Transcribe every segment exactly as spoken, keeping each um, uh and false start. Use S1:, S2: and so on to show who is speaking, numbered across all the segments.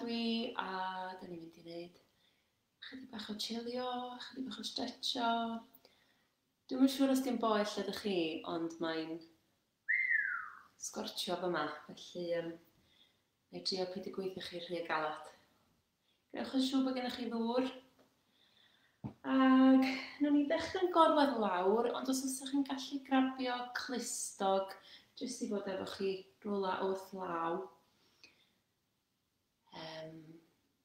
S1: dwi a da ni'n mynd i wneud chydig bach o chillio, chydig bach o stretcho. Dwi'm yn siŵr os di'n boeth lle ydych chi, ond mae'n sgortio fyma, felly um, na i drio peidio gweithio chi rhy galad. Gwnewch yn siŵr bod gennych chi ddŵr. Ac nawn ni ddechrau'n gorwedd lawr, ond os ydych chi'n gallu grabio clustog, jyst i fod efo chi rwla wrth law. Um,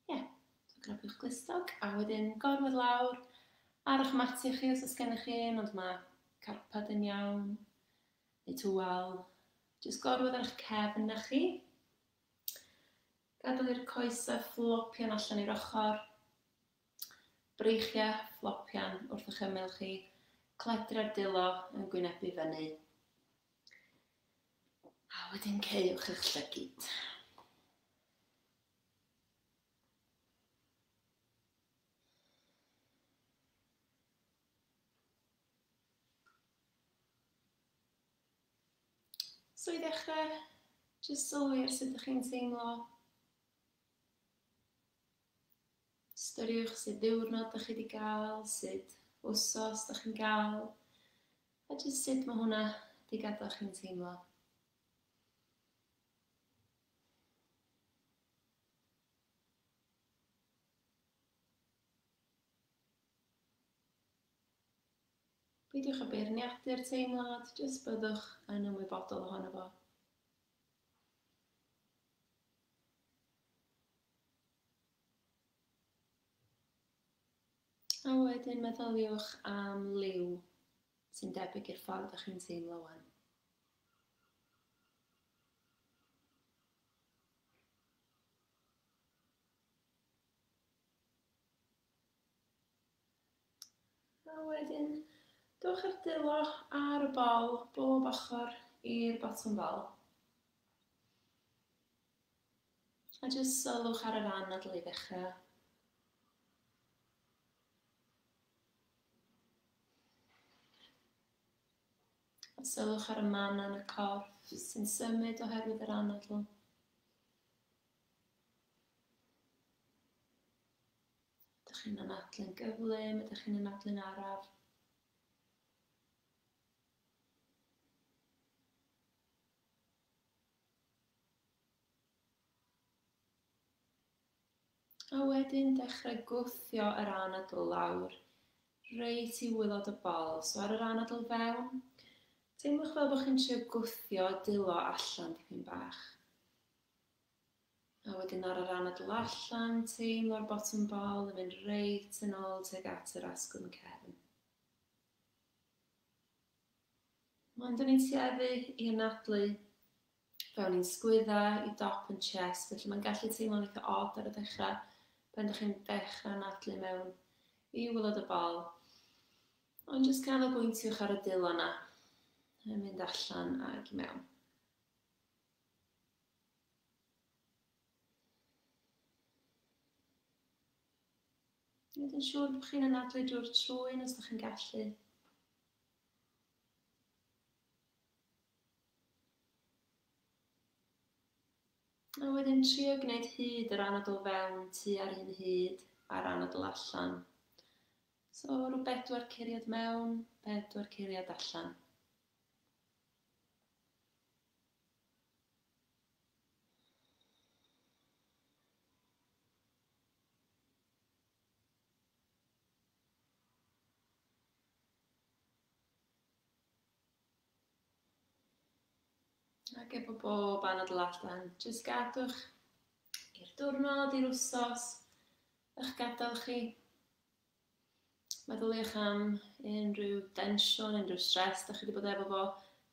S1: yeah, so grabiwch glustog, a wedyn gorwedd lawr ar eich matiau chi os oes gennych chi un, ond mae carpad yn iawn, neu tywel. Jyst gorwedd ar eich cefn na chi. Gadael i'r coesau flopian allan i'r ochr. Breichiau flopian wrth eich ymyl chi. Cledrau'r dwylo yn gwynebu fyny. A wedyn caewch eich llygid. So i ddechrau, jyst sylwi ar sut ydych chi'n teimlo. Ystyriwch sut ddiwrnod ydych chi wedi gael, sut wsos ydych chi'n gael, a jyst sut mae hwnna wedi gadael chi'n teimlo. Peidiwch â beirniadu'r teimlad, jyst byddwch yn ymwybodol ohono fo. A wedyn meddyliwch am liw sy'n debyg i'r ffordd ydych chi'n teimlo wan. A wedyn, dowch â'r dwylo ar y bol, bob ochr i'r botwm bol. A jyst sylwch ar yr anadl i ddechrau. A sylwch ar y man yn y corff sy'n symud oherwydd yr anadl. Ydych chi'n anadlu'n gyflym, ydych chi'n anadlu'n araf? A wedyn dechrau gwthio yr anadl lawr reit i waelod y bol. So ar yr anadl fewn, teimlwch fel bod chi'n trio gwthio dwylo allan dipyn bach. A wedyn ar yr anadl allan, teimlo'r botwm bol yn mynd reit yn ôl tuag at yr asgwrn cefn. Ond dyn ni'n tueddu i anadlu fewn i'n sgwydda, i dop yn chest, felly mae'n gallu teimlo'n eitha od ar y dechrau pan ydych chi'n dechrau anadlu mewn i waelod y bol. Ond jyst canolbwyntiwch ar y dwylo yna, yn mynd allan ac i mewn. Gwneud yn siŵr bod chi'n anadlu drwy'r trwyn os ydych chi'n gallu. A wedyn trio gwneud hyd yr anadl fewn tua'r un hyd a'r anadl allan. So rhyw bedwar curiad mewn, bedwar curiad allan. Ac efo bob anadl allan, jyst gadwch i'r diwrnod, i'r wsos, eich gadael chi. Meddyliwch am unrhyw densiwn, unrhyw stress dach chi wedi bod efo fo,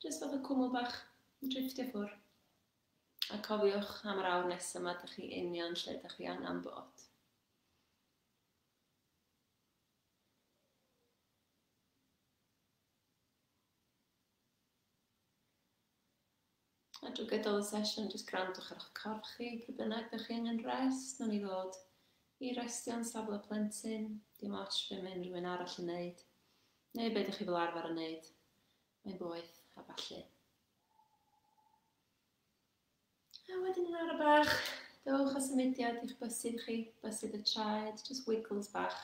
S1: jyst fath o cwmwl bach yn drifftio ffwrdd. A cofiwch am yr awr nesaf yma, dach chi union lle dach chi angen bod. A drwy gydol y sesiwn, jyst gwrandwch ar eich corff chi, pryd bynnag ydych chi angen rest, nawn ni ddod i restio'n safle plentyn, dim ots be mae unrhyw un arall yn neud, neu be ydych chi fel arfer yn neud, mae'n boeth a ballu. A wedyn yn ara bach, Dowch â symudiad i'ch bysedd chi, bysedd y traed, just wiggles bach.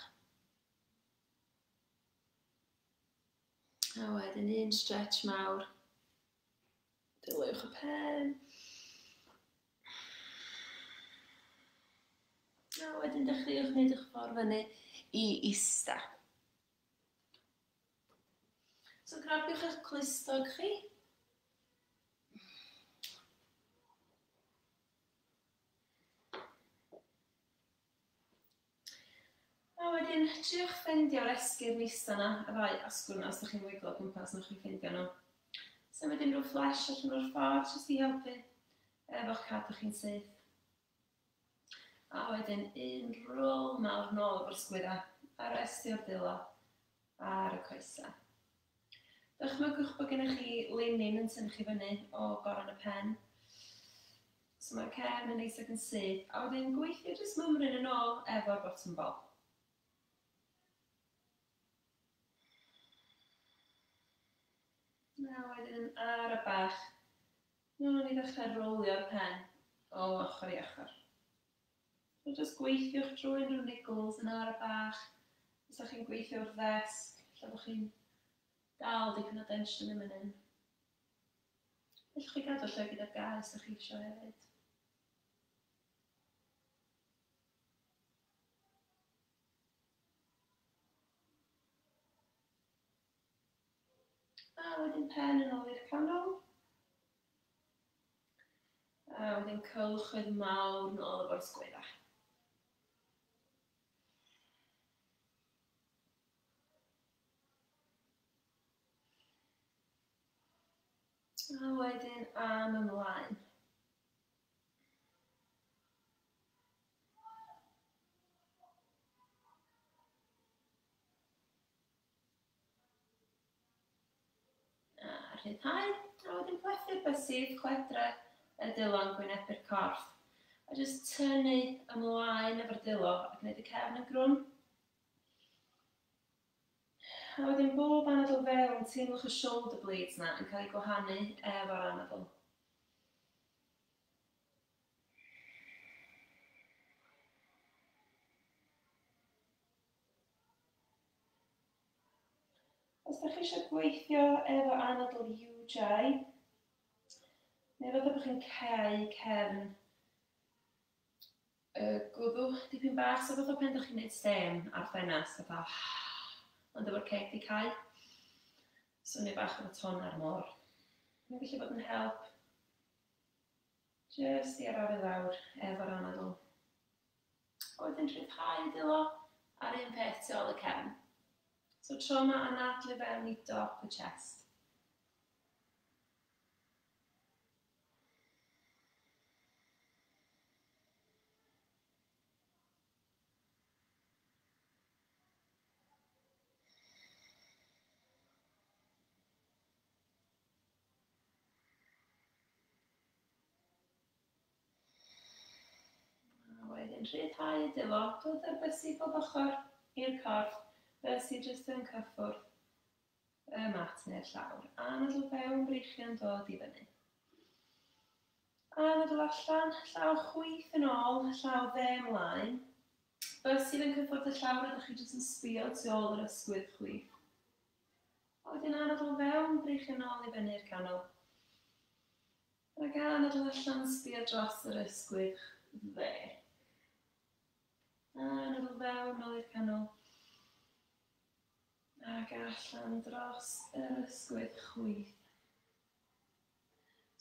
S1: A wedyn un stretch mawr. Dylwch y pen. A wedyn dechreuwch wneud eich ffordd fyny i ista. So grabiwch eich clustog chi. A wedyn, triwch ffeindio'r esgyrn ista yna, y ddau asgwrn os ydych chi'n wiglo o gwmpas, newch chi ffeindio nhw. Symud unrhyw flesh allan o'r ffordd, jyst i helpu efo'ch cadw chi'n syth. A wedyn, un rôl mawr nôl efo'r sgwydda, a restio'r dwylo ar y coesau. Dychmygwch bod gennych chi linyn yn tynnu chi fyny o goron y pen. So mae'r cefn yn neis ac yn syth. A wedyn gweithio jyst mymryn yn ôl efo'r bottom ball. A wedyn yn ara bach, nawn ni ddechrau rolio'r pen o ochr i ochr. So just gweithiwch drwy unrhyw niggles yn ara bach. Os ydych chi'n gweithio wrth ddesg, lle bod chi'n dal dipyn o densiwn yn mynd hyn. Fellwch chi gadw llygad ar gau os ydych chi eisiau hefyd. A wedyn pen yn ôl i'r canol. A wedyn cylchoedd mawr nôl efo'r sgwydda. A wedyn am ymlaen. A rhyddhau. A wedyn plethu'r bysedd, chwedre y dwylo'n gwynebu'r corff. A jyst tynnu ymlaen efo'r dwylo a gwneud y cefn yn grwn. A wedyn bob anadl fewn, teimlwch y shoulder blades na yn cael eu gwahanu efo'r anadl. Os ydych chi eisiau gweithio efo anadl U J, neu fatha bod chi'n cau cefn y gwddw dipyn bach, so fatha pan ydych chi'n gwneud stêm ar ffenast, fatha, ond efo'r ceg di cau. Swnio bach efo ton ar môr. Mae'n gallu bod yn help jyst i arafu lawr efo'r anadl. A wedyn rhyddhau dwylo ar un peth tu ôl y cefn. So tro yma anadlu fewn i dop y chest. A wedyn rhyddhau dwylo, dod â'r bysedd bob ochr i'r corff. Bysedd jyst yn cyffwrdd y mat neu'r llawr. Anadl fewn, breichiau'n dod i fyny. Anadl allan, llaw chwith yn ôl, llaw dde ymlaen. Bysedd yn cyffwrdd y llawr, ydych chi jyst yn sbio tu ôl yr ysgwydd chwith. A wedyn anadl fewn, breichiau'n ôl i fyny'r canol. Ac anadl allan, sbio dros yr ysgwydd dde. Anadl fewn, nôl i'r canol. Ac allan dros yr ysgwydd chwith.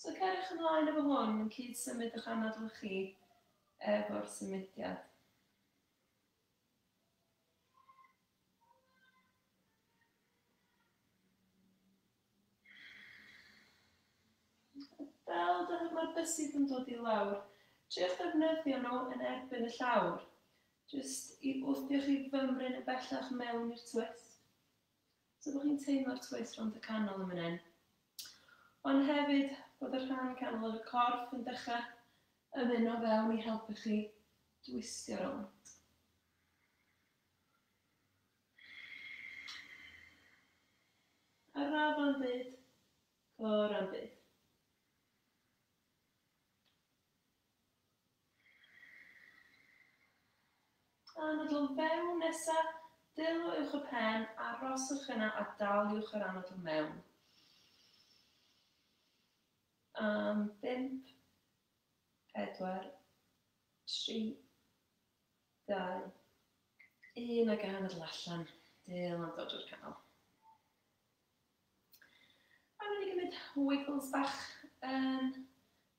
S1: So ceriwch ymlaen efo hwn yn cyd symud eich anadl chi efo'r symudiad. Fel mae'r bysedd yn dod i lawr, triwch ddefnyddio nhw yn erbyn y llawr, jyst i wthio chi fymryn yn bellach mewn i'r twist. So bod chi'n teimlo'r twist rownd y canol yn fan hyn. Ond hefyd bod y rhan canol o'r corff yn dechrau ymuno fewn i helpu chi twistio rownd. Araf am byd, cor am byd. Anadl fewn nesa, dwylo uwch y pen, aroswch yna a daliwch yr anadl mewn. Am bump, pedwar, tri, dau, un ac anadl allan. Dwylo'n dod o'r canol. A mynd i gymryd wiggles bach yn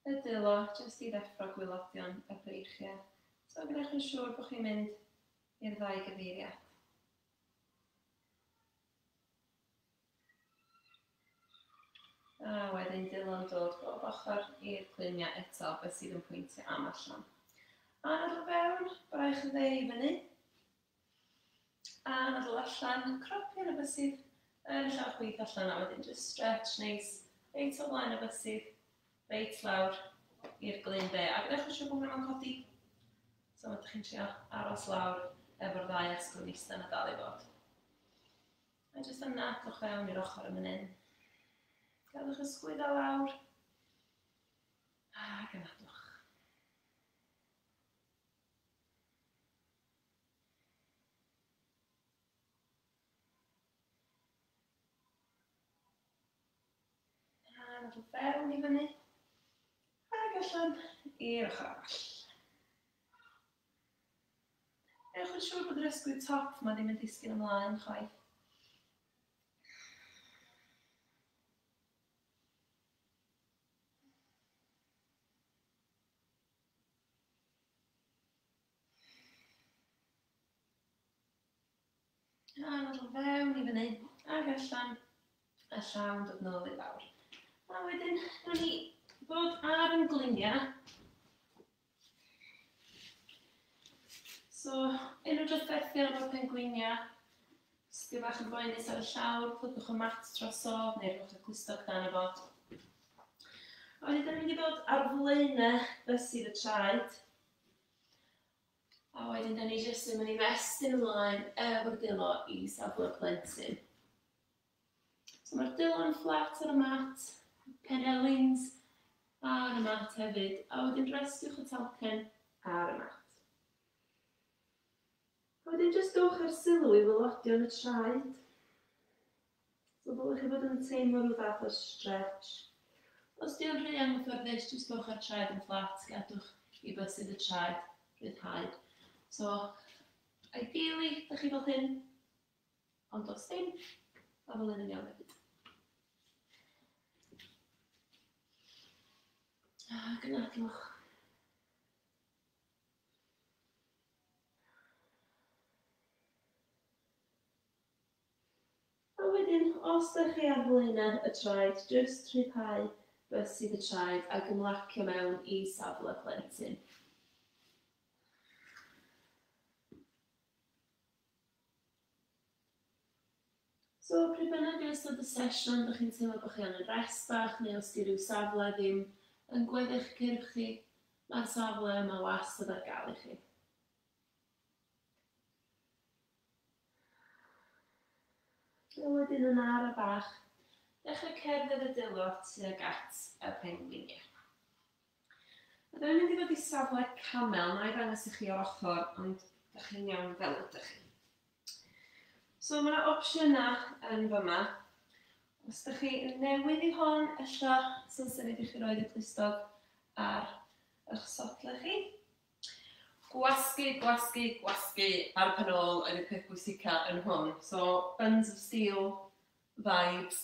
S1: y dwylo, jyst i ddeffro gwylodion y breichiau. So gwnewch yn siŵr bod chi'n mynd i'r ddau gyfeiriad. A wedyn dwylo'n dod bob ochr i'r cluniau eto, beth sydd yn pwyntio am allan. Anadl fewn, braich y dde i fyny. Anadl allan, cropio y bysedd yn y llaw chwith allan a wedyn just stretch neis, reit o flaen y bysedd, reit lawr i'r glun dde. A gwnewch yn siŵr bod hwnna'n codi. So ydych chi'n trio aros lawr efo'r ddau asgwrn ista na dal i fod. A jyst anadlwch fewn i'r ochr yn fan hyn. Gadwch y sgwydda lawr. Ac anadlwch. Anadl fewn i fyny. Ac allan i'r ochr arall. Ewch yn siŵr bod yr ysgwydd top ma ddim yn disgyn ymlaen chwaith. Anadl fewn i fyny ac allan, a llawn dod nôl i lawr. A wedyn, nawn ni ddod ar yn gliniau. So, unrhyw drafferthion efo'r pengliniau, os ydy bach yn boenus ar y llawr, plygwch y mat drosodd neu rhowch y clustog dan y fo. A wedyn, da ni'n mynd i ddod ar flaenau bysedd y traed. A wedyn, da ni jyst yn mynd i mestyn ymlaen efo'r dwylo i safle plentyn. So mae'r dwylo'n fflat ar y mat, penelins ar y mat hefyd, a wedyn restiwch y talcen ar y mat. A wedyn jyst dowch ar sylw i waelodion y traed. So ddylech chi fod yn teimlo rhyw fath o stretch. Os di o'n rhy anghyfforddus, jyst dowch ar traed yn fflat, gadwch i bysedd y traed rhyddhau. So, ideally, dych chi fel hyn, ond os ddim, mae fel hyn yn iawn hefyd. Ac anadlwch. A wedyn, os ydych chi ar flaenau y traed, jyst rhyddhau bysedd y traed ac ymlacio mewn i safle plentyn. So, pryd bynnag yn ystod y sesiwn, ydych chi'n teimlo bod chi angen rest bach, neu os di ryw safle ddim yn gweddill cyrff chi, mae'r safle yma wastad ar gael i chi. A wedyn yn ara bach, dechrau cerdded y dwylo tuag at y pengliniau. A dyna mynd i fod i safle camel, na i ddangos i chi o'r ochr, ond ydych chi'n iawn fel ydych chi. So mae yna opsiynau yn fyma. Os ydych chi newydd i hon, ella sy'n syniad i chi roed y clustog ar eich sodle chi.
S2: Gwasgu, gwasgu, gwasgu ar y pen ôl yn y peth bwysica yn hwn. So,
S1: buns of steel vibes.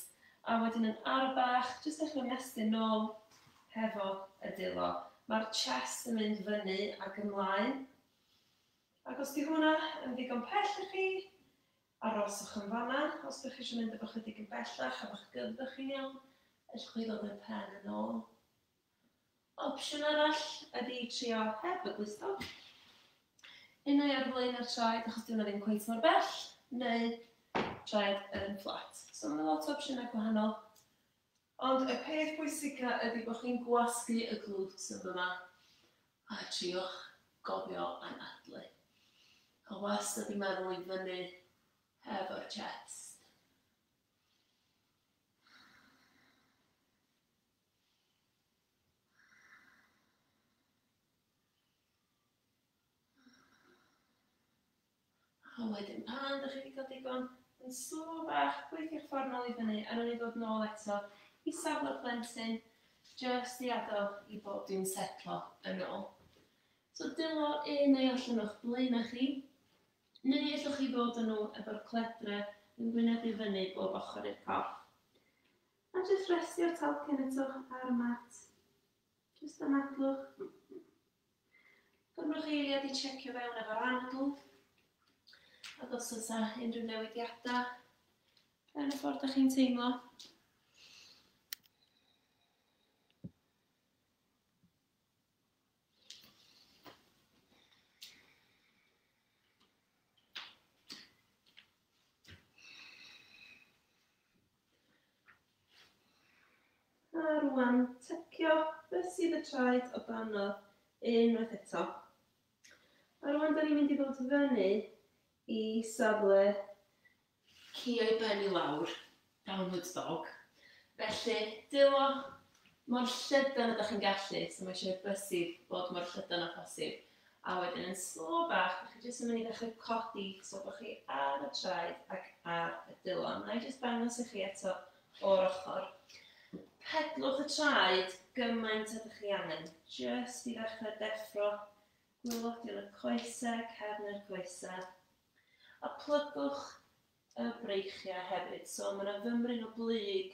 S1: A wedyn yn ara bach, jyst dechrau ymestyn nôl hefo y dwylo. Mae'r chest yn mynd fyny ac ymlaen. Ac os di hwnna yn ddigon pell i chi, aroswch yn fanna. Os ydych chi eisiau mynd efo chydig yn bellach, a fa'ch gyddfych chi'n iawn, ellwch chi ddod â'r pen yn ôl. Opsiwn arall ydy trio heb y glustog. Unai ar flaen ar traed, achos di hwnna ddim cweit mor bell, neu traed yn fflat. So mae lot o opsiynau gwahanol. Ond y peth pwysica ydy bod chi'n gwasgu y glutes yn fyma a triwch gofio anadlu. A wastad i meddwl i fyny hefo'r chest. A wedyn pan ydych chi wedi cael digon, yn slo bach, gweithio'ch ffordd nôl i fyny, a nawn ni ddod nôl eto i safle plentyn, just i adael i bob dim setlo yn ôl. So dwylo un neu allan o'ch blaenau chi, neu allwch chi ddod â nhw efo'r cledre yn gwynebu fyny bob ochr i'r corff. A jyst restio'r talcen eto ar y mat. Jyst anadlwch. Gymrwch eiliad i checio fewn efo'r anadl. Ac os oes unrhyw newidiadau yn y ffordd ydych chi'n teimlo. A rwan, tycio bysedd y traed o danodd unwaith eto. A rwan, da ni'n mynd i ddod fyny i safle ci o'i ben i lawr, downward dog. Felly, dwylo mor llydan ydych chi'n gallu, so mae eisiau bysedd bod mor llydan â phosib. A wedyn yn slo bach, ydych chi jyst yn mynd i ddechrau codi, so bod chi ar y traed ac ar y dwylo. Na i jyst dangos i chi eto o'r ochr. Pedlwch y traed gymaint ydych chi angen, jyst i ddechrau deffro gwaelodion y coesau, cefn yr coesau. A plygwch y breichiau hefyd, so mae yna fymryn o blyg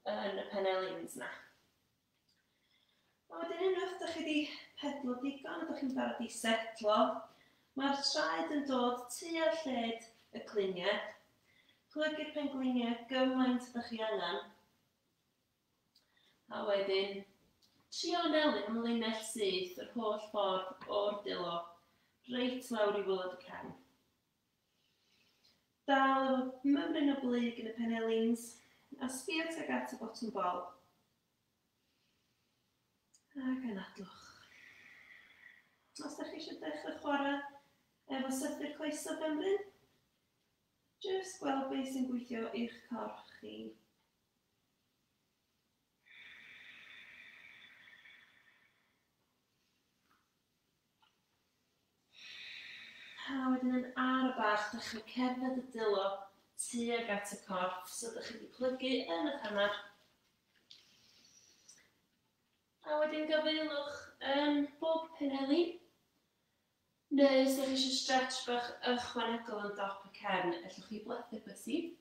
S1: yn y penelins na. A wedyn unwaith ydych chi wedi pedlo digon, ydych chi'n barod i setlo, mae'r traed yn dod tua lled y cluniau. Plygu'r pengliniau gymaint ydych chi angen. A wedyn, trio anelu am linell syth yr holl ffordd o'r dwylo, reit lawr i waelod y cefn. Dal efo mymryn o blyg yn y penelins, a sbio tuag at y botwm bol. Ac anadlwch. Os ydych chi eisiau dechrau chwarae efo sythu'r coesau fymryn, jyst gweld beth sy'n gweithio i'ch corff chi. A wedyn yn ar y bach, dechrau cerdded y dwylo tuag at y corff, so ydych chi wedi plygu yn eich hanner. A wedyn gafaelwch yn bob penelin. Neu os ydych chi eisiau stretch bach ychwanegol yn dop y cefn, allwch chi blethu bysedd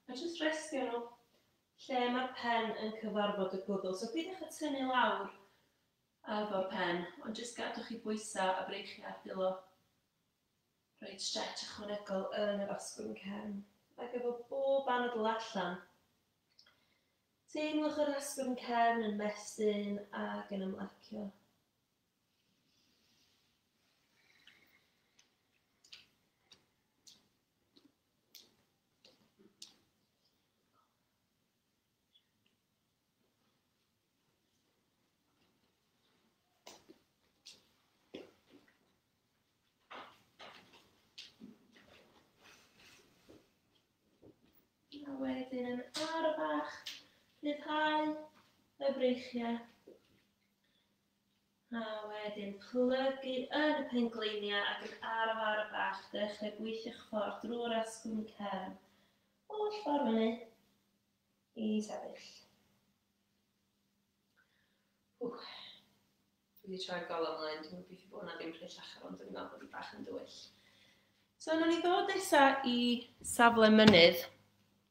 S1: a jyst restio nhw lle mae'r pen yn cyfarfod y gwddw. So peidiwch â tynnu lawr efo'r pen, ond jyst gadwch chi bwysau a breichiau ar dwylo. Rhaid stretch ychwanegol yn yr asgwrn cefn. Ac efo bob anadl allan, teimlwch yr asgwrn cefn yn mestyn ac yn ymlacio. A wedyn yn ar y bach, rhyddhau y breichiau. A wedyn plygu yn y pengliniau ac yn araf ar y bach, dechrau gweithio'ch ffordd drwy'r asgwrn cefn. Holl ffordd fyny i sefyll. Ww. Dwi wedi troi'r golau ymlaen, dwi'n gobeithio bod hwnna ddim rhy llachar, ond dwi'n meddwl bod hi bach yn dywyll. So, nawn ni ddod nesa i safle mynydd.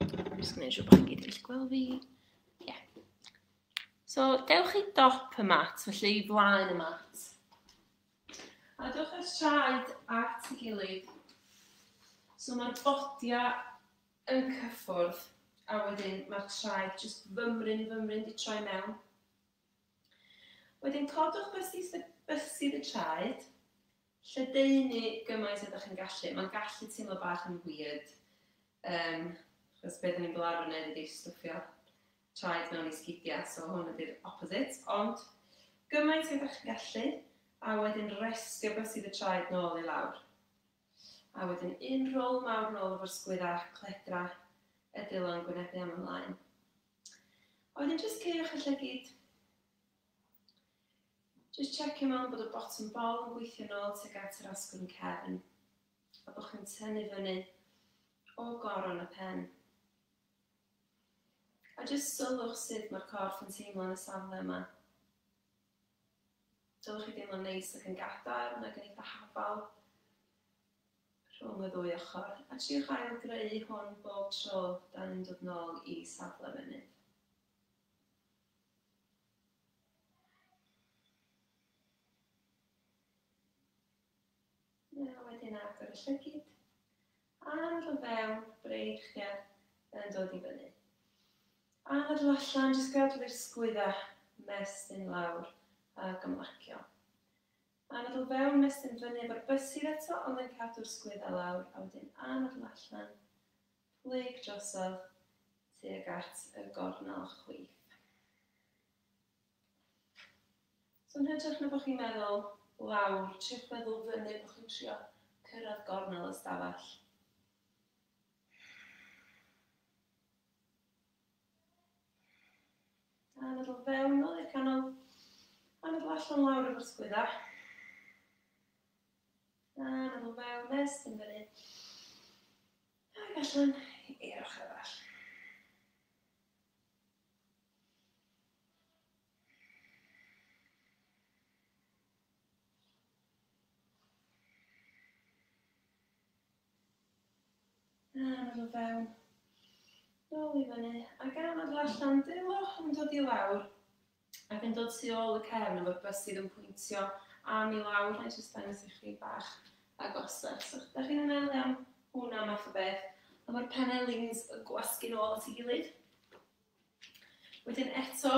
S1: I'm just gwneud siŵr bod chi'n gyd yn gallu gweld fi. Yeah. So, dewch i dop y mat, felly i flaen y mat. A dewch â'r traed at ei gilydd. So, mae'r bodiau yn cyffwrdd, a wedyn mae'r traed jyst fymryn, fymryn di troi mewn. Wedyn codwch bysedd bysedd y traed, lledaenu gymaint ydych chi'n gallu. Mae'n gallu teimlo bach yn weird. Um, Achos beth ni'n fel arfer wneud ydy stwffio traed mewn i sgidiau, so hwn ydy'r opposite. Ond gymaint ydych chi'n gallu, a wedyn restio bysedd y traed nôl i lawr. A wedyn un rôl mawr nôl efo'r sgwydda, cledra, y dwylo'n gwynebu am ymlaen. A wedyn jyst caewch y llygid. Just checio mewn bod y bottom bol yn gweithio nôl tuag at yr asgwrn cefn. A bod chi'n tynnu fyny o goron y pen. A jyst sylwch sut mae'r corff yn teimlo yn y safle yma. Dylwch chi deimlo'n neis ac yn gadarn ac yn eitha hafal rhwng y ddwy ochr. A triwch ail greu hwn bob tro dan ni'n dod nôl i safle mynydd. A wedyn agor y llygid. Anadl fewn, breichiau yn dod i fyny. Anadl allan, jyst gadw i'r sgwydda, mestyn lawr ac ymlacio. Anadl fewn, mestyn fyny efo'r bysedd eto, ond yn cadw'r sgwydda lawr. A wedyn anadl allan, plyg drosodd tuag at y gornel chwith. So yn hytrach na bod chi'n meddwl lawr, triwch meddwl fyny bod chi'n trio cyrraedd gornel y stafell. Anadl fewn nôl i'r canol. Anadl allan lawr efo'r sgwydda. Anadl fewn, mestyn fyny. Ac allan i'r ochr arall. Anadl fewn. Nôl i fyny, ac anadl allan, dwylo yn dod i lawr ac yn dod tu ôl y cefn efo'r bysedd yn pwyntio am i lawr. Na i jyst dangos i chi bach agosach. So, da chi'n anelu am hwnna math o beth, a mae'r penelins yn gwasgu nôl at ei gilydd. Wedyn eto,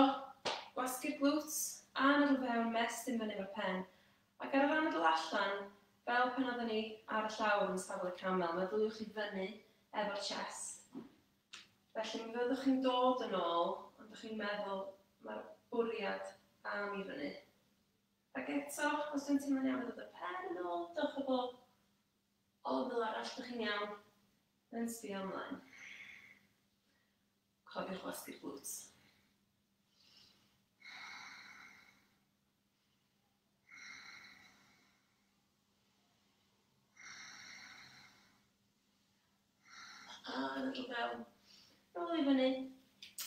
S1: gwasgu'r glutes, anadl fewn, mestyn fyny efo'r pen. Ac ar yr anadl allan, fel pan oedden ni ar y llawr yn safle camel, meddyliwch chi fyny efo'r chest. Felly mi fyddwch chi'n dod yn ôl, ond ydych chi'n meddwl mae'r bwriad am i fyny. Ac eto, os dwi'n teimlo'n iawn, dod y pen yn ôl, dewch o bob ongl arall, ydych chi'n iawn, yn sbio ymlaen. Cofiwch wasgu'r glutes. Anadl fewn. Nôl i fyny,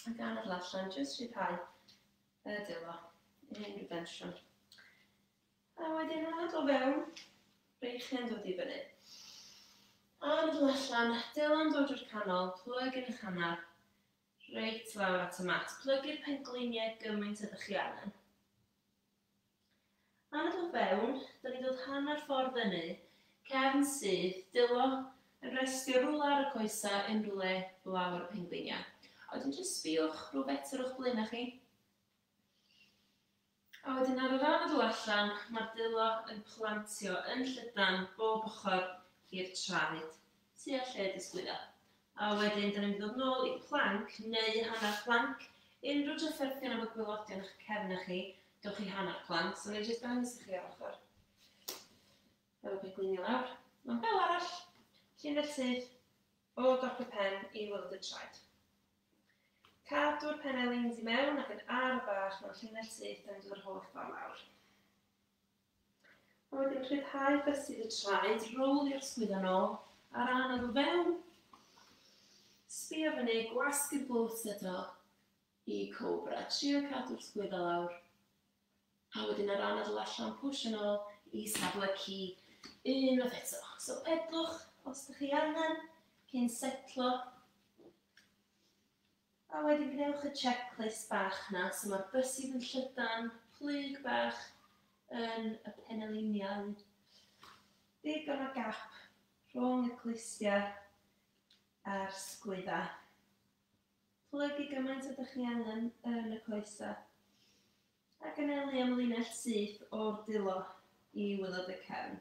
S1: ac anadl allan, jyst rhyddhau y dwylo, unrhyw densiwn. A wedyn anadl fewn, breichiau'n dod i fyny. Anadl allan, dwylo'n dod drwy'r canol, plyg yn eich hanner, reit lawr at y mat. Plygu'r pengliniau gymaint ydych chi angen. Anadl fewn, da ni'n dod hanner ffordd fyny, cefn syth, dwylo yn restio rwla ar y coesa, unrhyw le lawr y pengliniau. A wedyn jyst sbïwch rhyw fetr o'ch blaenau chi. A wedyn ar yr anadl allan, mae'r dwylo yn plantio yn llydan bob ochr i'r traed, tua lled y sgwydda. A wedyn, da ni'n mynd i ddod nôl i plank neu hanner plank. Unrhyw drafferthion efo gwaelodion eich cefn chi, dewch i hanner plank. So, na i jyst dangos i chi ar ochr. Efo pengliniau lawr. Ond fel arall, llinell syth o dop y pen i waelod y traed. Cadw'r penelins i mewn ac yn araf bach mewn llinell syth yn dod yr holl ffordd lawr. A wedyn rhyddhau bysedd y traed, rolio'r sgwydda nôl, a'r anadl fewn. Sbio fyny, gwasgu'r glutes eto i cobra. Trio cadw'r sgwydda lawr. A wedyn yr anadl allan, pwsh yn ôl i safle ci. Unwaith eto. So pedlwch os ydych chi angen cyn setlo. A wedyn gwnewch y checklist bach na. So mae'r bysedd yn llydan, plyg bach yn y peneliniau. Digon o gap rhwng y clustiau a'r sgwydda. Plygu gymaint ydych chi angen yn y coesau. Ac anelu am linell syth o'r dwylo i waelod y cefn.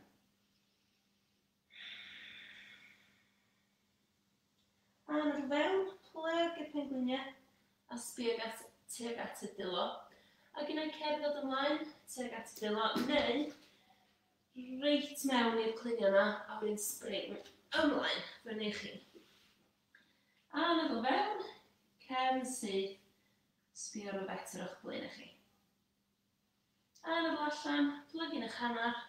S1: Anadl fewn, plyg y pengliniau a sbio at, tuag at y dwylo. Ac unai cerdded ymlaen tuag at y dwylo, neu reit mewn i'r cluniau yna a wedyn spring ymlaen fyny chi. Anadl fewn, cefn syth, sbio rhyw fetr o'ch blaen chi. Anadl allan, plygu'n eich hanner.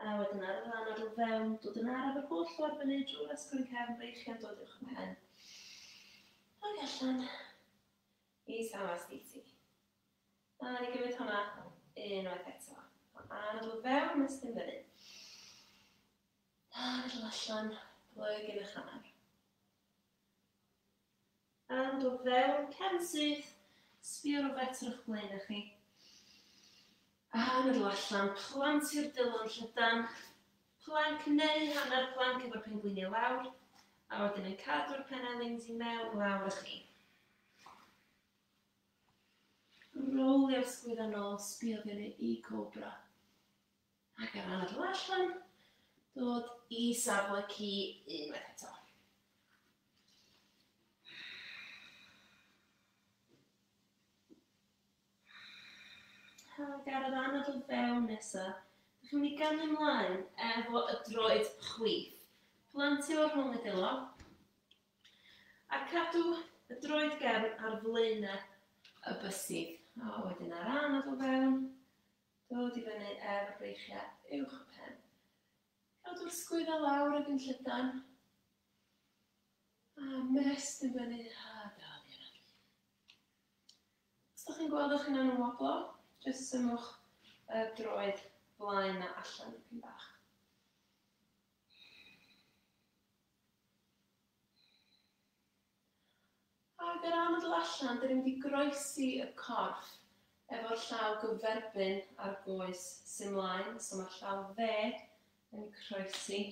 S1: A wedyn ar yr anadl fewn, dod yn araf yr holl ffordd fyny drwy'r asgwrn cefn, breichiau'n dod uwch y pen. Ac allan i Samasthiti. A ni gymryd hwnna unwaith eto. Anadl fewn, ymestyn fyny. Anadl allan, plyg yn y hanner. Anadl fewn, cefn syth, sbio rhywbeth ar eich blaen i chi. Anadl allan, plantio'r dwylo'n llydan, plank neu hanner plank efo'r pengliniau lawr, a wedyn yn cadw'r penelins i mewn lawr i chi. Rolio'r sgwydda nôl, sbio fyny i cobra. Ac ar anadl allan, dod i safle ci unwaith eto. Ac ar yr anadl fewn nesaf, dych chi'n mynd i gamu ymlaen efo y droed chwith. Plantio rhwng y dwylo a cadw y droed gefn ar flaenau y bysedd. A wedyn ar anadl fewn, dod i fyny efo'r breichiau uwch y pen. Cadw'r sgwydda lawr ag yn llydan. A mestyn fyny a dal i anadlu. Os ydych chi'n gweld eich hunan yn woblo, jyst symwch y droed blaen na allan dipyn bach. Ac yr anadl allan, dyn ni'n mynd i groesi y corff efo'r llaw gyferbyn a'r goes sy'n mlaen. So mae'r llaw dde yn croesi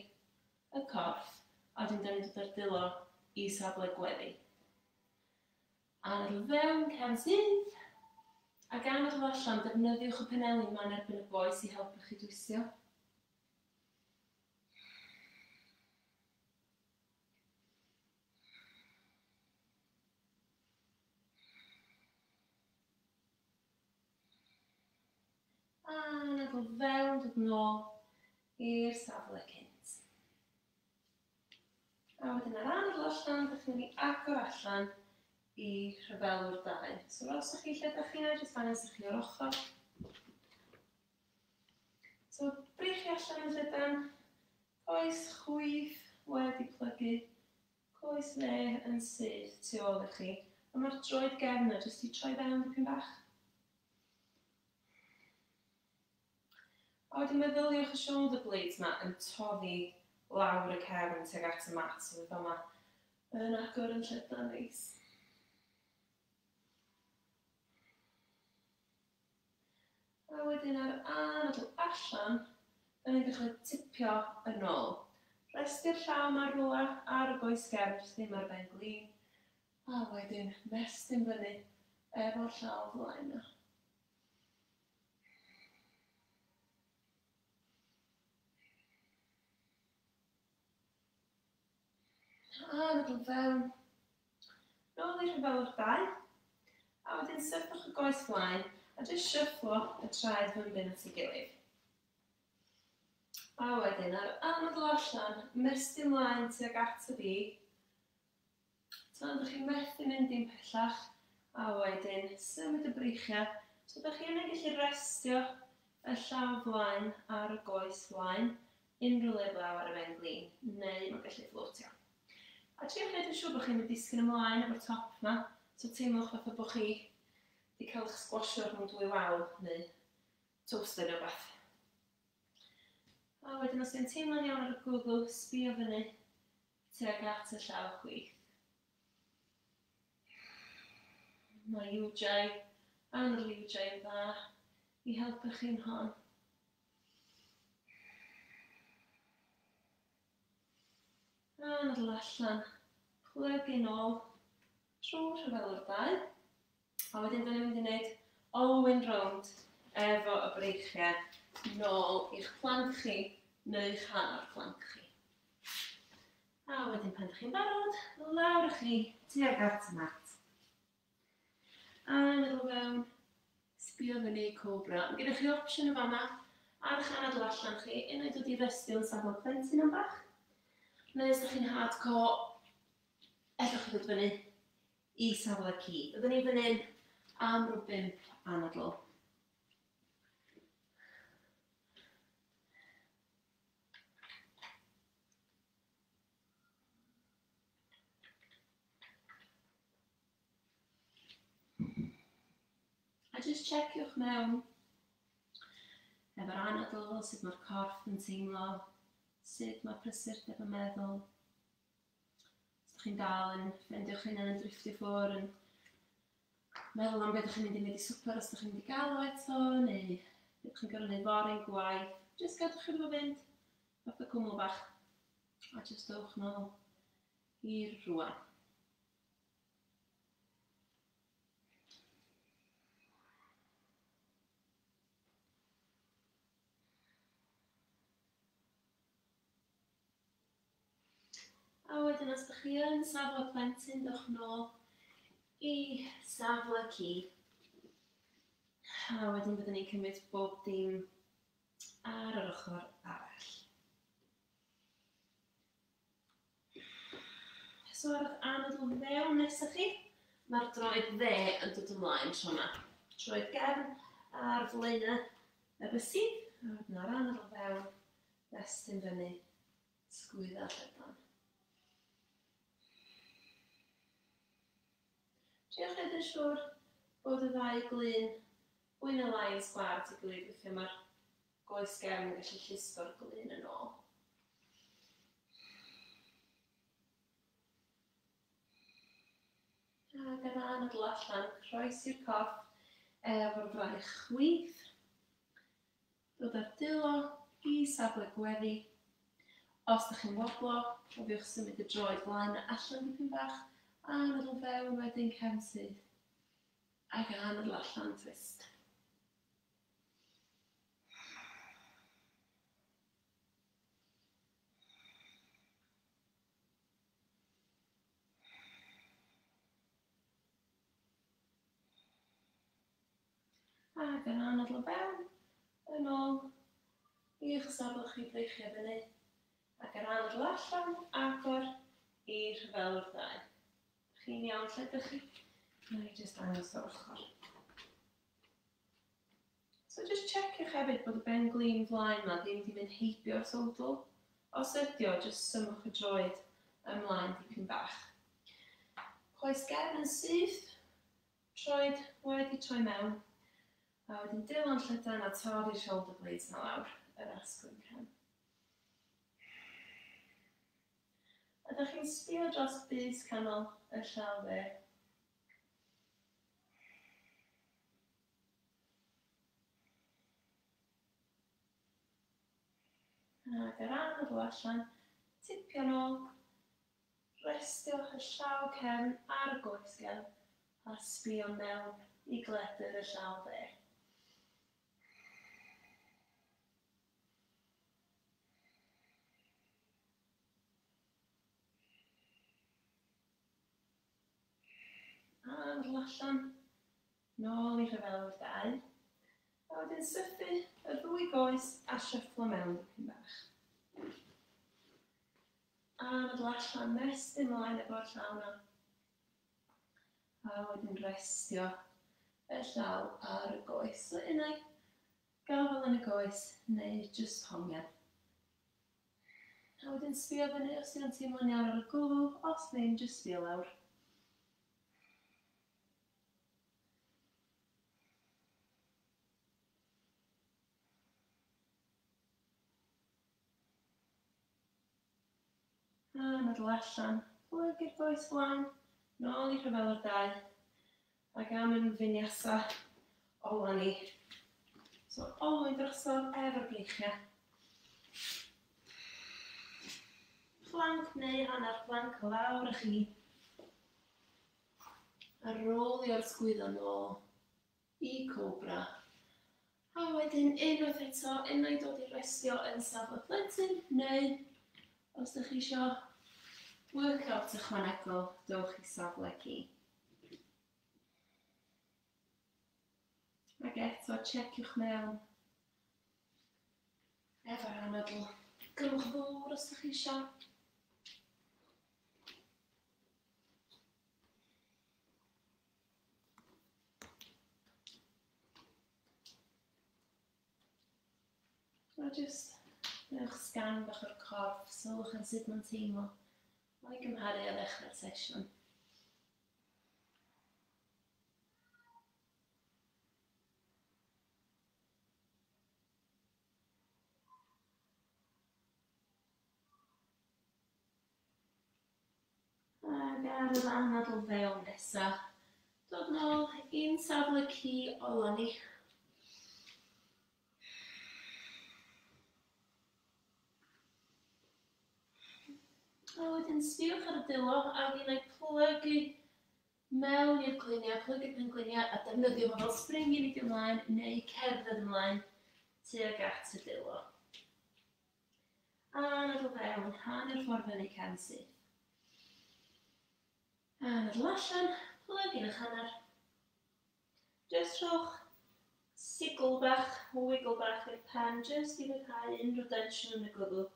S1: y corff, a wedyn dyn ni'n dod â'r dwylo i safle gweddi. Anadl fewn, cefn syth. Ac anadl allan, defnyddiwch y penelin ma'n erbyn y goes i helpu chi dwysio. Anadl fewn, dod nôl i'r safle cynt. A wedyn ar anadl allan, dych chi'n mynd i agor allan i rhyfelwr dau. So roswch chi lle dych chi'n edrych, dangos i chi o'r ochr. So breichiau allan yn llydan, coes chwith wedi plygu, coes dde yn syth tu ôl i chi. A mae'r droed gefn yna jyst i troi fewn dipyn bach. A wedyn meddyliwch y shoulder blades yma yn toddi lawr y cefn tuag at y mat. So fydd yma yn agor yn llydan neis. A wedyn ar anadl allan, da ni'n dechrau tipio yn ôl. Restio'r llaw yma rhywle ar y goes gefn, jyst ddim ar ben glin. A wedyn mestyn fyny efo'r llaw flaen yna. Anadl fewn. Nôl i'r rhyfelwr dau. A wedyn sychwch y goes flaen a jyst shufflo y traed fymryn at ei gilydd. A wedyn ar anadl allan, mestyn mlaen tuag at y fi. Tan ydych chi'n methu mynd dim pellach. A wedyn symud y breichiau. So ydych chi yna gallu restio y llaw flaen ar y goes flaen, unrhyw le blaw ar y ben glin, neu mae'n gallu fflotio. A triwch wneud yn siŵr bod chi'n mynd disgyn ymlaen efo'r top yma, so teimlwch fatha bod chi wedi cael eich sgwasio rhwng dwy wal neu toaster neu rhywbeth. A wedyn os yw'n teimlo'n iawn ar y gwddw, sbio fyny tuag at y llaw chwith. Mae Ujjayi, anadl Ujjayi yn dda i helpu chi'n hon. Anadl allan, plygu nôl trwy rhyfelwr dau. A wedyn dyn ni'n mynd i wneud olwyn rownd efo y breichiau nôl i'ch plank chi neu'ch hanner plank chi. A wedyn pan ydych chi'n barod, lawr i chi tuag at y mat. Anadl fewn, sbio fyny cobra. Mae gennych chi opsiwn yn fan'na ar eich anadl allan chi, unai dod i restio yn safle plentyn am bach, neu os ydych chi'n hardcore, ellwch chi ddod fyny i safle ci. Byddwn ni fan hyn am ryw bump anadl. Just checiwch mewn efo'r anadl, sut mae'r corff yn teimlo, sut mae prysurdeb yn meddwl. Os ydych chi'n dal yn ffeindio'ch hunan yn drifftio ffwrdd, yn meddwl am beth ydych chi'n mynd i wneud i swper os ydych chi'n mynd i gael o eto, neu beth ydych chi'n gorfod wneud fory'n gwaith. Just gadwch iddo fo fynd, fatha cwmwl bach, a just dowch nôl i'r rwan. A wedyn os ydych chi yn safle plentyn, dewch nôl i safle ci. A wedyn byddwn ni'n cymryd bob dim ar yr ochr arall. So ar eich anadl fewn nesaf chi, mae'r droed dde yn dod ymlaen tro yma. Troed gefn ar flaenau y bysedd, a wedyn ar anadl fewn, estyn fyny, sgwydda llydan. Triwch wneud yn siŵr bod y ddau glun fwy neu lai yn sgwâr at ei gilydd, weithiau mae'r goes gefn yn gallu llusgo'r glun yn ôl. Ac ar anadl allan, croesi'r corff efo'r fraich chwith. Dod â'r dwylo i safle gweddi. Os ydych chi'n woblo, cofiwch symud y droed flaen a allan dipyn bach. Anadl fewn wedyn cefn syth. Ac anadl allan twist. Ac yn anadl fewn, yn ôl i'ch safle chi breichiau fyny. Ac yr anadl allan, agor i'r rhyfelwr ddau. Chi'n iawn lle ydych chi? Na i jyst dangos o'r ochr. So just checiwch hefyd bod y ben glin flaen yma ddim wedi mynd heibio'r sowdl. Os ydi o, just symwch y droed ymlaen dipyn bach. Coes gefn yn syth, troed wedi troi mewn. A wedyn dwylo'n llydan a torri'r shoulder blades yna lawr, yr asgwrn cefn. A ydych chi'n sbio dros bys canol y llaw dde. Ac ar anadl allan, tipio nôl, restiwch y llaw cefn ar y goes gefn a sbio mewn i gledr y llaw dde. Anadl allan, nôl i rhyfelwr dau. A wedyn sythu y ddwy goes a shufflo mewn dipyn bach. Anadl allan, mestyn mlaen efo'r llaw yna. A wedyn restio y llaw ar y goes. So unai gafel yn y goes neu jyst hongian. A wedyn sbio fyny os ydyn nhw'n teimlo'n iawn ar y gwddw, os ddim, jyst sbio lawr. Anadl allan, plygu'r goes flaen, nôl i rhyfelwr dau, ac am yn vinyasa ola ni. So, olwyn drosodd efo'r breichiau. Plank neu hanner plank lawr i chi. A rolio'r sgwyddo nôl i cobra. A wedyn unwaith eto, unai dod i restio yn safle plentyn, neu os ydych chi isio workout ychwanegol, dowch i safle ci. Ac eto, checiwch mewn efo'r anadl. Gymrwch ddŵr os ydych chi isio. A jyst newch sgan bach o'r corff, sylwch yn sut mae'n teimlo o'i gymharu â ddechrau'r sesiwn. Ac ar yr anadl fewn nesa, dod nôl i'n safle ci ola ni. A wedyn sbiwch ar y dwylo a wedyn ei plygu mewn i'r gliniau, plygu pengliniau a defnyddio fo fel spring i neidio ymlaen neu cerdded ymlaen tuag at y dwylo. Anadl fewn, hanner ffordd fyny cefn syth. Anadl allan, plygu yn eich hanner. Jyst rhowch sigl bach, wiggle bach i'r pen, jyst i ryddhau unrhyw densiwn yn y gwddw.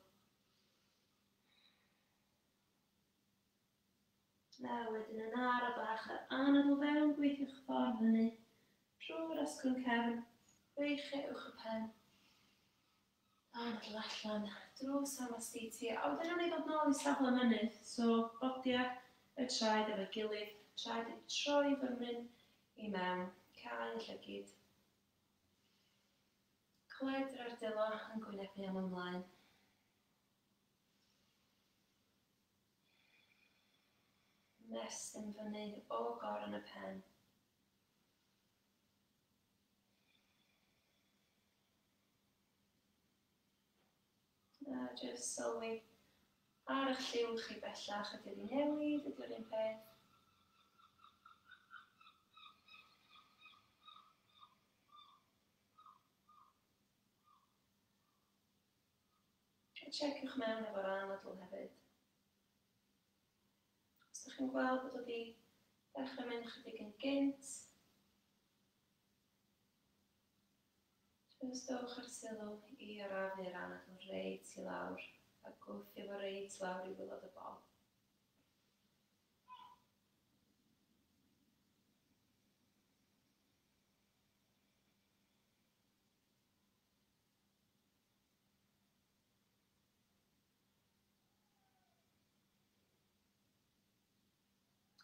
S1: A wedyn yn ara bach ar anadl fewn, gweithiwch ffordd fyny drwy'r asgwrn cefn, breichiau uwch y pen. Anadl allan, drwy Samasthiti. A wedyn nawn ni ddod nôl i safle mynydd, so bodia y traed efo'i gilydd, traed i troi fymryn i mewn, cau llygid. Cledr ar dwylo yn gwynebu am ymlaen. Mestyn fyny o goron y pen. A jyst sylwi ar eich lliw chi bellach, ydy wedi newid, ydy o'r un peth. A checiwch mewn efo'r anadl hefyd. Os ydych chi'n gweld bod wedi dechrau mynd chydig yn gynt, jyst dowch ar sylw i arafu'r anadl reit i lawr a gwthio fo reit lawr i waelod y bol.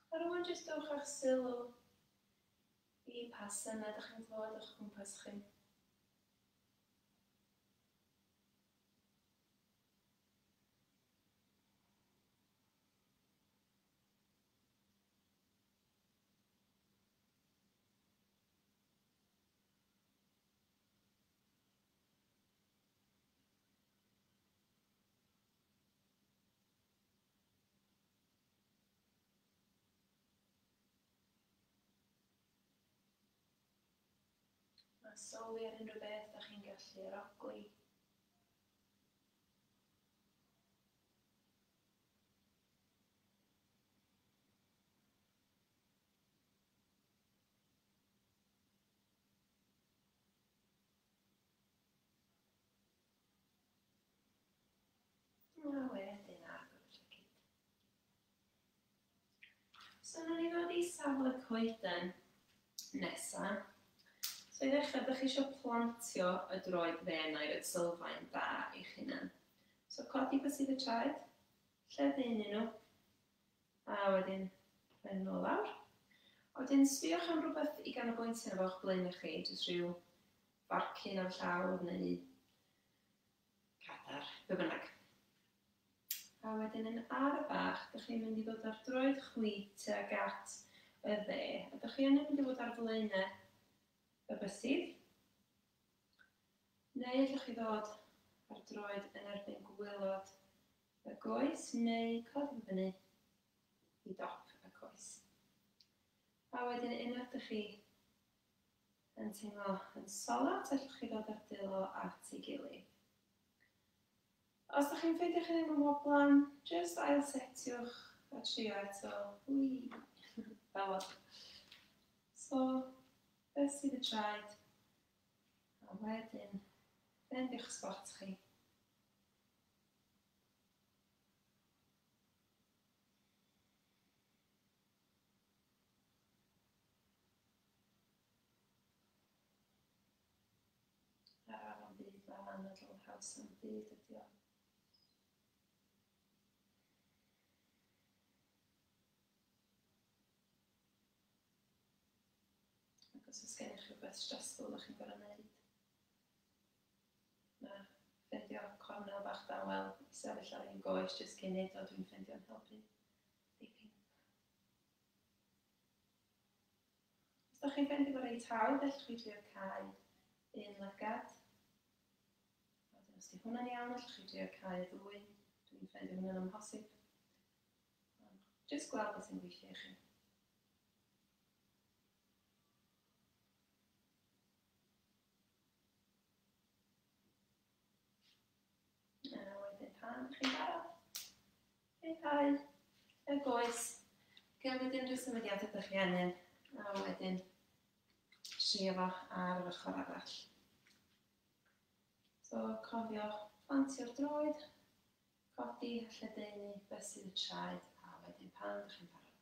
S1: A rŵan jyst dowch â'ch sylw i pa synau ydych chi'n clywed o'ch cwmpas chi. A sylwi ar unrhyw beth ydych chi'n gallu arogli. A wedyn agor y llygid. So nawn ni ddod i safle coeden nesa. So i ddechrau, ydych chi eisiau plantio y droed dde yna i roed sylfaen da i'ch hunan. So codi bysedd y traed, lledaenu nhw, a wedyn rhoi nhw lawr. A wedyn sbïwch am rhywbeth i ganolbwyntio arno fo o'ch blaen chi, jyst rhyw farcyn ar llawr neu cadar, be bynnag. A wedyn yn ara bach, ydych chi'n mynd i ddod ar droed chwith tuag at y dde. A ydych chi yn mynd i fod ar flaenau y bysedd, neu allwch chi ddod ar droed yn erbyn gwaelod y goes, neu codi fyny i dop y coes. A wedyn unwaith ydych chi yn teimlo yn solat, allwch chi ddod ar dwylo at ei gilydd. Os ydych chi'n ffeindio chi ddim yn woblan, jyst ail-setiwch a trio eto. Wii! Fel o. So, bysedd y traed, a wedyn ffeindiwch spot chi. Araf am byd, mae'r anadl haws am byd ydi o. Ac os oes gennych chi rhywbeth stressful ydych chi'n gorfod wneud, mae ffeindio cornel bach dawel i sefyll ar un goes jyst cyn neud o, dwi'n ffeindio'n helpu dipyn. Os ydych chi'n ffeindio fo reit hawdd, allwch chi drio cau un lygad. A wedyn os 'di hwnna'n iawn, allwch chi drio cau y ddwy. Dwi'n ffeindio hwnna'n amhosib. Ond jyst gweld beth sy'n gweithio i chi. A wedyn pan ydych chi'n barod, rhyddhau y goes, cymryd unrhyw symudiadau ydych chi angen, a wedyn trio fo ar yr ochr arall. So cofio plantio'r droed, codi a lledaenu bysedd y traed, a wedyn pan ydych chi'n barod,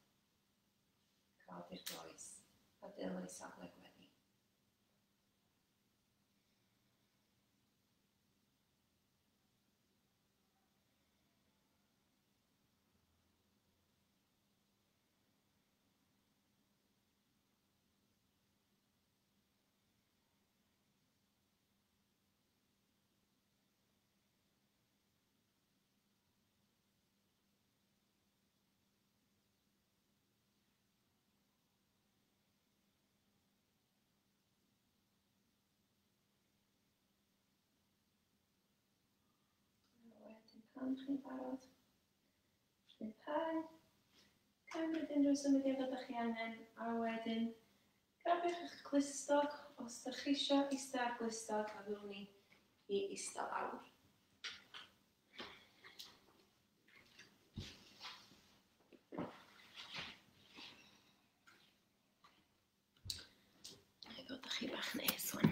S1: codi'r goes a dylai safle gweddi. Pan chi'n barod, rhyddhau, cymryd unrhyw symudiad ydych chi angen, a wedyn grabiwch eich clustog, os ydych chi isio eistedd ar glustog, a fyddwn ni i eistedd lawr. Na i ddod â chi bach nes wan.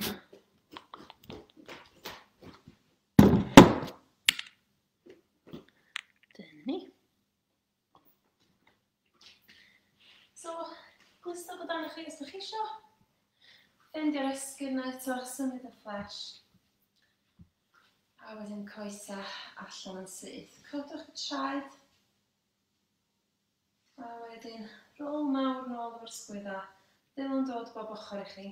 S1: Ni. So, glustog o dan chi os ydych chi isio. Ffeindio'r esgyrn yna eto, symud y flesh. A wedyn coesa allan yn syth. Codwch y traed. A wedyn rôl mawr nôl efo'r sgwydda. Dylwn dod bob ochr i chi.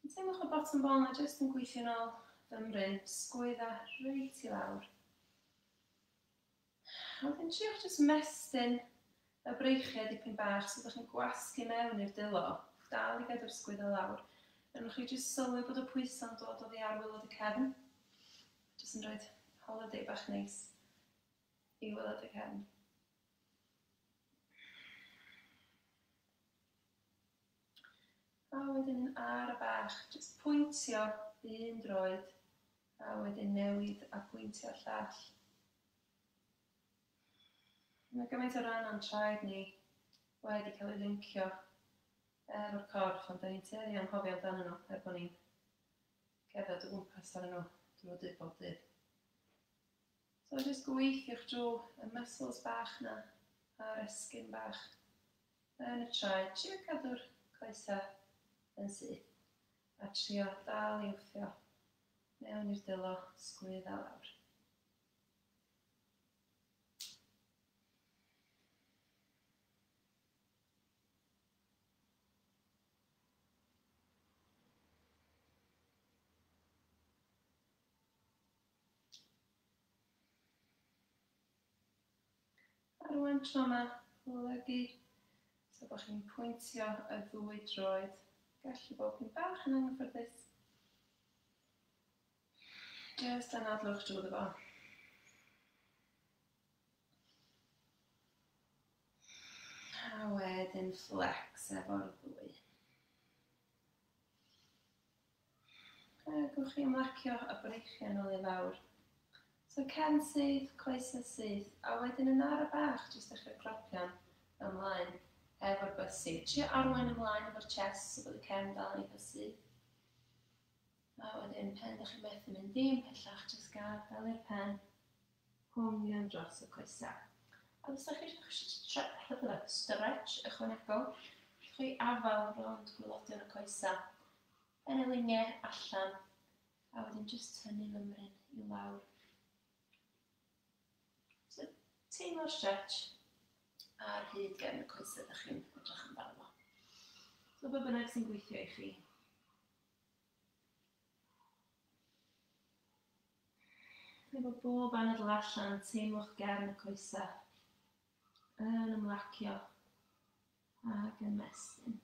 S1: Teimlwch y bottom bone a jyst yn gweithio nôl fymryn. Sgwydda reit i lawr. A wedyn triwch jyst mestyn y breichiau dipyn bach so ydych chi'n gwasgu mewn i'r dylo, dal i gadw'r sgwydda lawr. A wnewch chi jyst sylwi bod y pwyso'n dod oddi ar waelod y cefn. Jyst yn rhoi holiday bach neis i waelod y cefn. A wedyn yn ara bach, jyst pwyntio un droed, a wedyn newid a pwyntio'r llall. Mae gymaint o ran o'n traed ni wedi cael ei lincio efo'r corff, ond da ni'n tueddu i anghofio amdanyn nhw er bod ni'n cerdded o gwmpas arnyn nhw drwy dydd bob dydd. So jyst gweithiwch drwy y muscles bach na a'r esgyrn bach yn y traed. Trio cadw'r coesau yn syth a trio dal i wthio mewn i'r dylo, sgwydda lawr. A rwan tro yma, plygu, so bod chi'n pwyntio y ddwy droed. Gallu bod chi'n bach yn anghyffyrddus. Jyst anadlwch drwyddo fo. A wedyn flex efo'r ddwy. A gewch chi ymlacio y breichiau nôl i lawr. So cefn syth, coesau syth, a wedyn yn ara bach, jyst dechrau cropian ymlaen efo'r bysedd. Trio arwain ymlaen efo'r chest so bod y cefn dal yn eitha syth. A wedyn pen ydych chi'n methu mynd ddim pellach, jyst gadael i'r pen hongian dros y coesau. A os ydych chi eisiau stretch ychwanegol, chi afael rownd gwaelodion y coesau, yn y liniau allan, a wedyn jyst tynnu mymryn i lawr. So, teimlo'r stretch ar hyd gefn y coesau ydych chi'n edrych amdano fo. So, be bynnag sy'n gweithio i chi. Efo bob anadl allan, teimlwch gefn y coesau yn ymlacio. Ac ymestyn.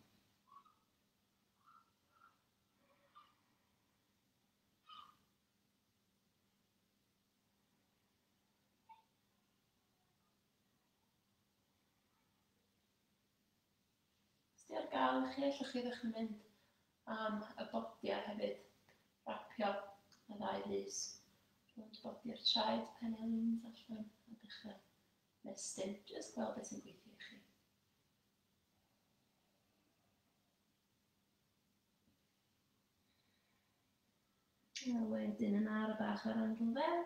S1: Os di ar gael i chi, allwch chi ddechrau mynd am y bodiau hefyd. Rapio y ddau fys rownd bodiau'r traed, penelins allan a dechrau mestyn. Jyst gweld beth sy'n gweithio i chi. A wedyn yn ara bach ar anadl fewn,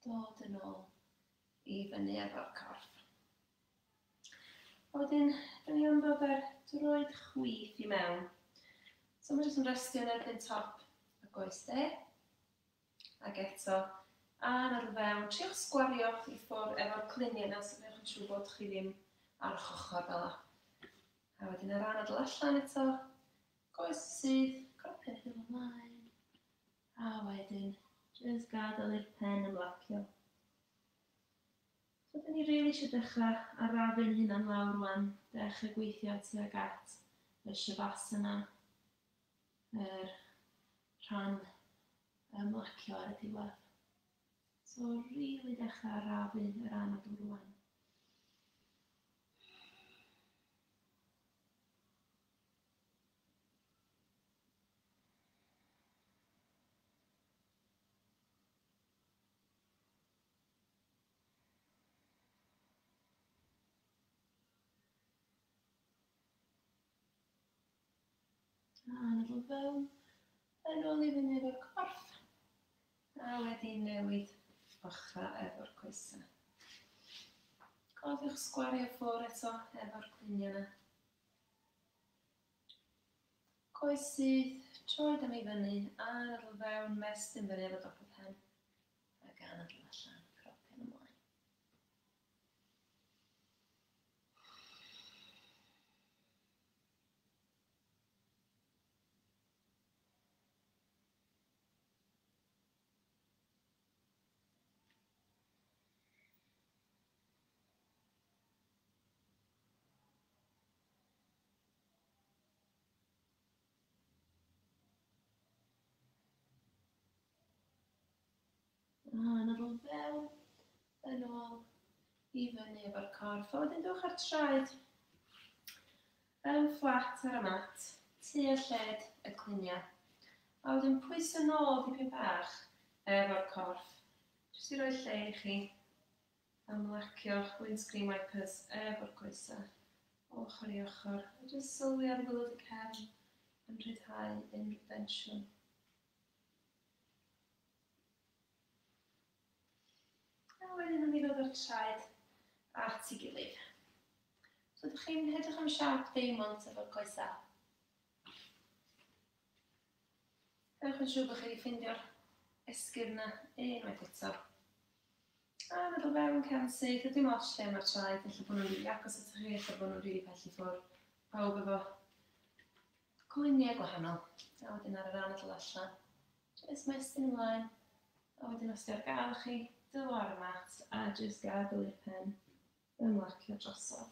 S1: dod yn ôl i fyny efo'r corff. A wedyn, da ni am ddod â'r droed chwith i mewn. So mae jyst yn restio yn erbyn top y goes dde. Ac eto, anadl fewn, triwch sgwario i ffwrdd efo'r cluniau yna, so gwnewch yn siŵr bod chi ddim ar eich ochr fel 'na. A wedyn yr anadl allan eto, goes syth, cropio'n hyn ymlaen. A wedyn, jyst gadael i'r pen ymlacio. So, dyn ni rili eisiau dechrau arafu'n hunan lawr rwan, dechrau gweithio tuag at y shavasana, yr rhan ymlacio ar y diwedd. So, rili dechrau arafu yr anadl rwan. Anadl fewn, yn ôl i fyny efo'r corff, a wedyn newid ochrau efo'r coesau. Cofiwch sgwario ffwrdd eto efo'r cluniau yna. Coes syth, troed am i fyny, anadl fewn, mestyn fyny efo dop y pen, ac anadl allan, cropio'n ymlaen. Anadl fewn, yn ôl i fyny efo'r corff. A wedyn dewch â'r traed yn fflat ar y mat, tua lled y cluniau. A wedyn pwyso nôl dipyn bach efo'r corff. Jyst i roi lle i chi ymlacio'ch windscreen wipers efo'r coesau, ochr i ochr. A jyst sylwi ar waelod y cefn yn rhyddhau unrhyw densiwn. A wedyn nawn ni ddod â'r traed at ei gilydd. So ydych chi'n edrych am siâp diamond efo'r coesau. Ewch yn siŵr bod chi wedi ffeindio'r esgyrn yna unwaith eto. A meddwl fewn cefn syth, a dim ots lle mae'r traed, ella bod nhw'n rili agos atoch chi, ella bod nhw'n rili pell i ffwrdd. Pawb efo cluniau gwahanol. A wedyn ar yr anadl allan, jyst mestyn ymlaen. A wedyn os di ar gael chi, dylo ar y mat a jyst gadael i'r pen ymlacio drosodd.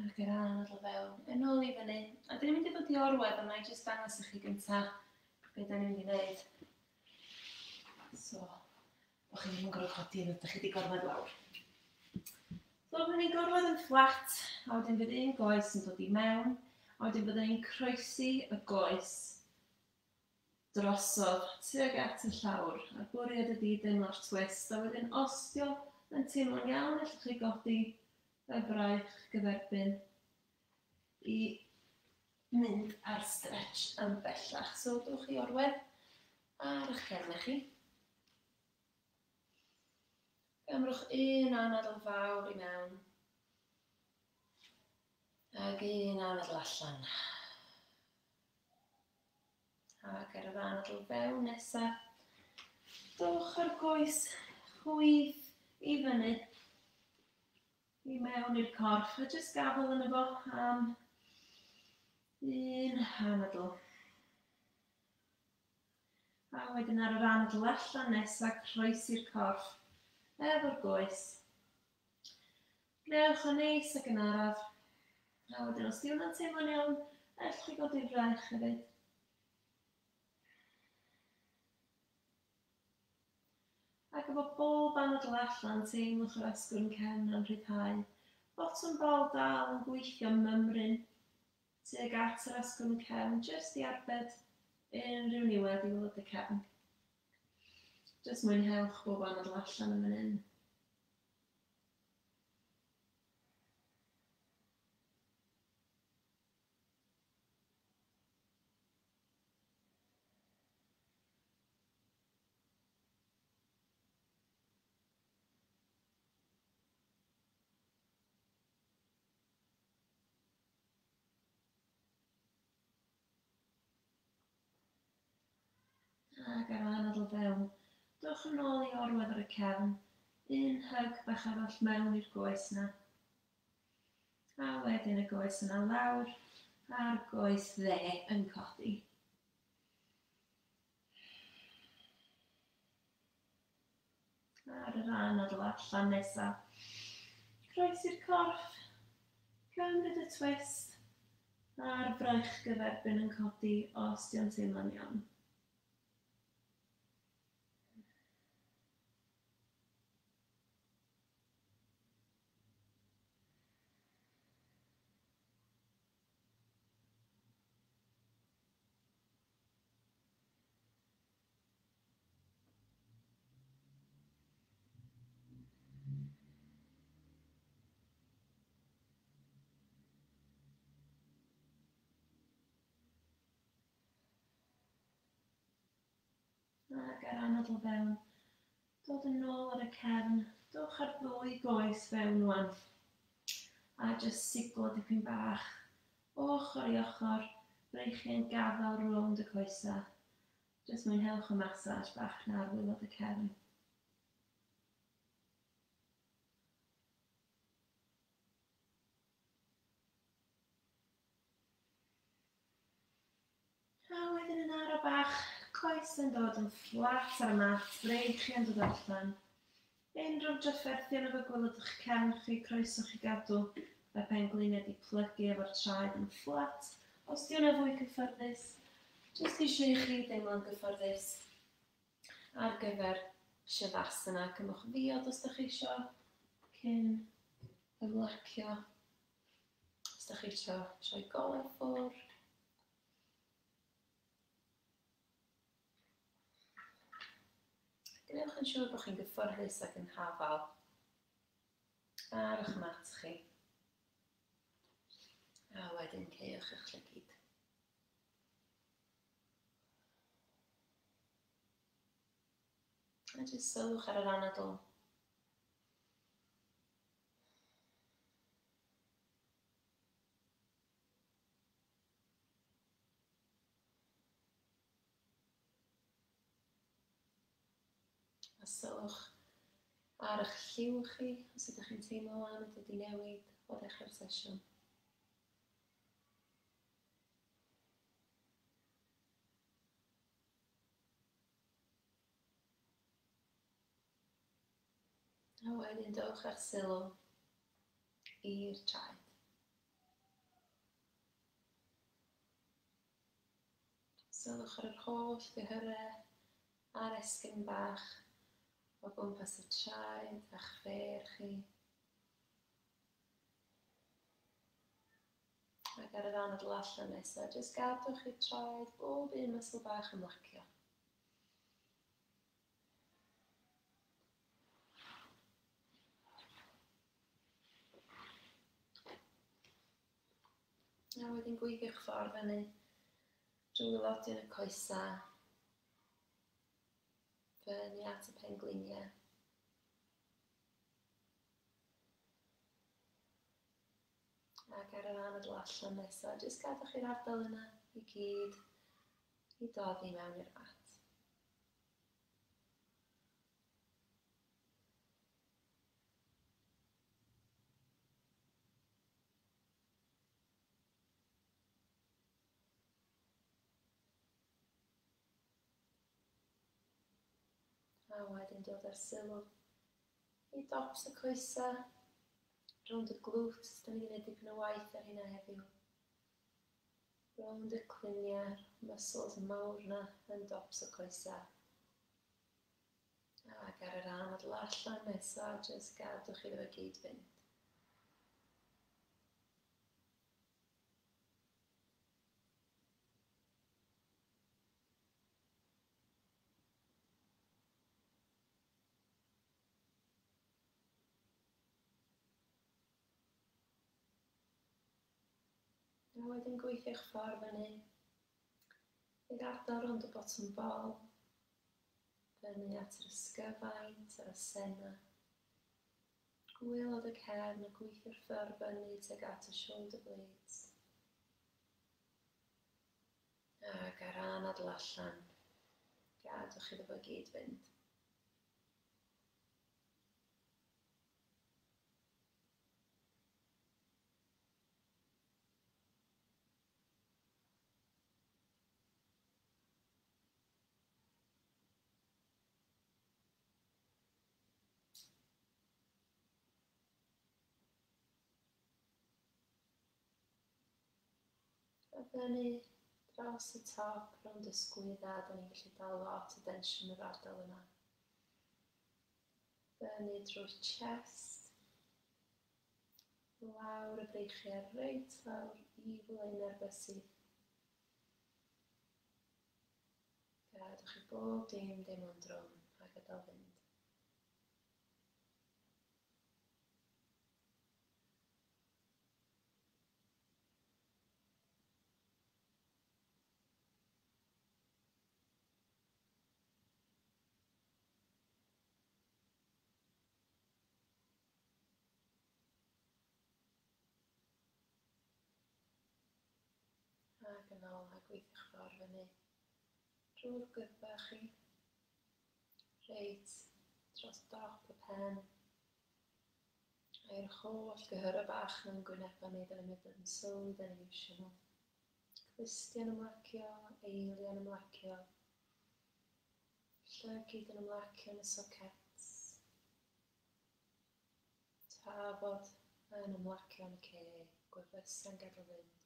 S1: Ac yr anadl fewn, yn ôl i fyny. A dyn ni'n mynd i ddod i orwedd, ond na i jyst dangos i chi gynta be da ni'n mynd i wneud. So, bo chi ddim yn gorfod codi yn ydych chi wedi gorfod lawr. So, byddwn ni'n gorfod yn fflat, a wedyn fydd un goes yn dod i mewn, a wedyn byddwn ni'n croesi y goes drosodd tuag at y llawr. A'r bwriad ydy deimlo'r twist, a wedyn os dio yn teimlo'n iawn, allwch chi godi y braich gyferbyn i mynd ar stretch yn bellach. So, dewch i orwedd ar eich cefn chi. Gymrwch un anadl fawr i mewn ac un anadl allan. Ac ar yr anadl fewn nesaf, dowch â'r goes chwith i fyny, i mewn i'r corff, a jyst gafel yno fo am un anadl. A wedyn ar yr anadl allan nesaf, croesi'r corff efo'r goes. Gwnewch yn neis ac yn araf. A wedyn os di hwnna'n teimlo'n iawn, ellwch chi godi'r fraich hefyd. Ac efo bob anadl allan, teimlwch yr asgwrn cefn yn rhyddhau. Botwm bol dal yn gweithio mymryn tuag at yr asgwrn cefn, jyst i arbed unrhyw niwed i waelod y cefn. Jyst mwynhewch bob anadl allan yn fan hyn. Ac ar anadl fewn, dowch yn ôl i orwedd ar y cefn, un hug bach arall mewn i'r goes yna. A wedyn y goes yna lawr, a'r goes dde yn codi. Ar yr anadl allan nesaf, croesi'r corff, cymryd y twist, a'r fraich gyferbyn yn codi os dio'n teimlo'n iawn. Ac ar anadl fewn, dod yn ôl ar y cefn, dowch ar ddwy goes fewn wan. A jyst siglo dipyn bach, ochr i ochr, breichiau'n gafael rownd y coesau. Jyst mwynhewch y massage bach na ar waelod y cefn. A wedyn yn ara bach, coes yn dod yn fflat ar y mat, breichiau'n dod allan. Unrhyw drafferthion efo gwaelod eich cefn chi, croeso chi gadw y pengliniau di plygu efo'r traed yn fflat. Os di hwnna fwy cyfforddus, jyst eisiau i chi deimlo'n gyfforddus ar gyfer Shavasana. Cymwch ddiod os da chi isio cyn ymlacio. Os da chi isio troi golau ffwrdd. Gwnewch yn siŵr bod chi'n gyfforddus ac yn hafal ar eich mat chi. A wedyn caewch eich llygid. A jyst sylwch ar yr anadl. A sylwch ar eich lliw chi, os ydych chi'n teimlo am y dod i newid o ddechrau'r sesiwn. A wedyn dowch â'ch sylw i'r traed. Sylwch ar yr holl gyhyrau a'r esgyrn bach o gwmpas y traed a'ch ffêr chi. Ac ar yr anadl allan nesaf, jyst gadwch i'r traed bob un muscle bach ymlacio. A wedyn gweithiwch ffordd fyny drwy waelodion y coesau, fyny at y pengliniau. Ac ar yr anadl allan nesaf, jyst gadwch i'r ardal yna i gyd i doddi mewn i'r mat. A wedyn dod â'r sylw i dops y coesau, rownd y glutes, da ni wedi gwneud dipyn o waith ar hynna heddiw. Rownd y cluniau, muscles mawr na yn dops y coesau. Ac ar yr anadl allan nesaf, jyst gadwch iddo fe gyd fynd. A wedyn gweithio'ch ffordd fyny i'r ardal rownd y botwm bol, fyny at yr ysgyfaint a'r asennau. Gwaelod y cefn a gweithio'r ffordd fyny tuag at y shoulder blades. Ac ar anadl allan, gadwch iddo fo gyd fynd. A fyny dros y top, rownd y sgwydda, da ni'n gallu dal lot o densiwn yr ardal yna. Fyny drwy'r chest, lawr y breichiau, reit lawr i flaenau'r bysedd. Gadwch i bob dim deimlo'n drwm a gadael fynd. Ac yn ôl a gweithio'ch ffordd fyny drwy'r gwddf chi, reit dros dop y pen, a'r holl gyhyrau bach mewn gwynebau ni, da ni'n mynd yn sylwi, da ni'n iwsio nhw. Clustiau'n ymlacio, eiliau'n ymlacio, llygid yn ymlacio yn y sockets, tafod yn ymlacio yn y ceg, gwefusau'n gadael fynd.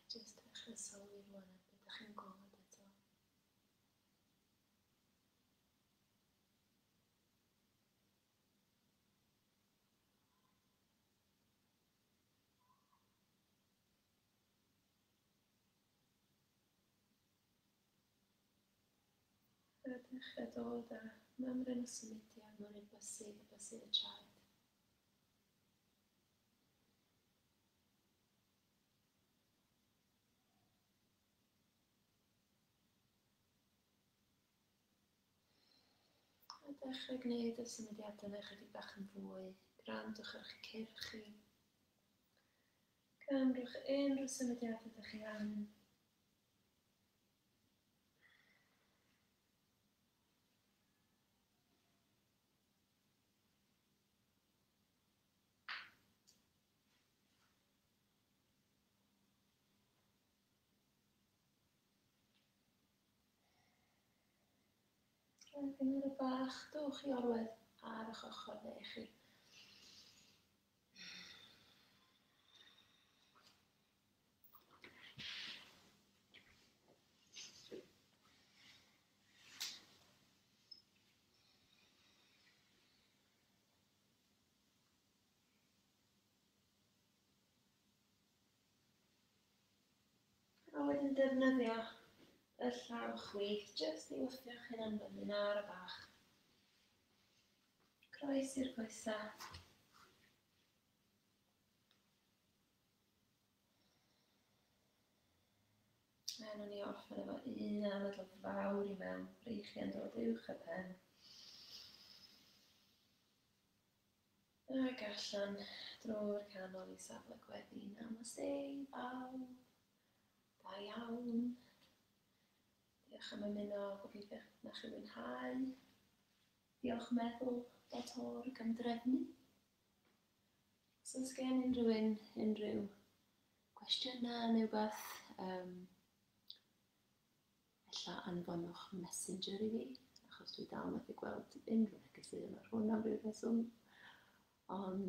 S1: Jyst dechrau sylwi rwan ar beth ydych chi'n gweld eto. A dechrau dod â mymryn o symudiad mewn i'r bysedd a bysedd y traed. A dechrau gwneud y symudiadau yna ychydig bach yn fwy. Gwrandwch ar eich cyrch chi. Cymrwch unrhyw symudiadau ydych chi angen. Ac yn ar y bach, dowch i orwedd ar eich ochr dde chi. A wedyn defnyddio y llaw chwith jyst i wthio'ch hunan fyny'n ar y bach. Croes i'r coesau. A nawn ni orffen efo un anadl fawr i mewn, breichiau'n dod uwch y pen. Ac allan drwy'r canol i safle gweddi. Namaste, bawb. Da iawn. Diolch am ymuno, gobeithio na chi fwynhau. Diolch meddwl dot org am drefnu. Os oes gen unrhyw un unrhyw gwestiynau neu wbeth, um, ella anfonwch messenger i fi, achos dwi dal methu gweld unrhyw negeseuon ar hwn am ryw reswm. Ond,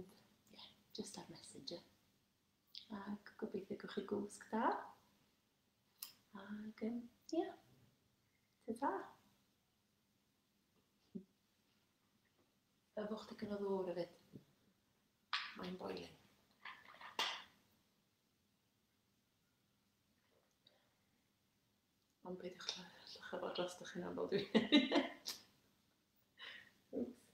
S1: ie, yeah, just ar messenger. Ac gobeithio gewch chi gwsg da. Ac, um, ie, yeah, ta-ta. Yfwch digon o ddŵr hefyd. Mae'n boiling. Ond peidiwch llycha fo dros ych hunan fel dwi'n. Oops.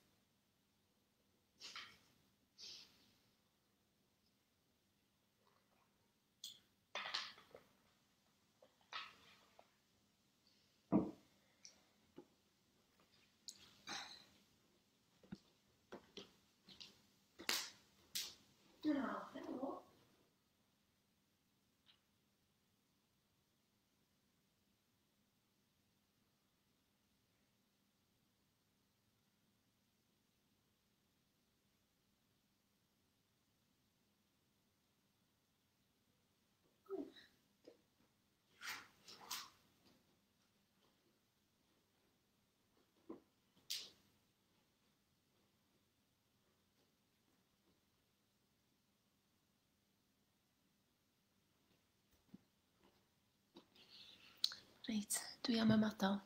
S1: Oh, hello. Reit, dwi am ymadael.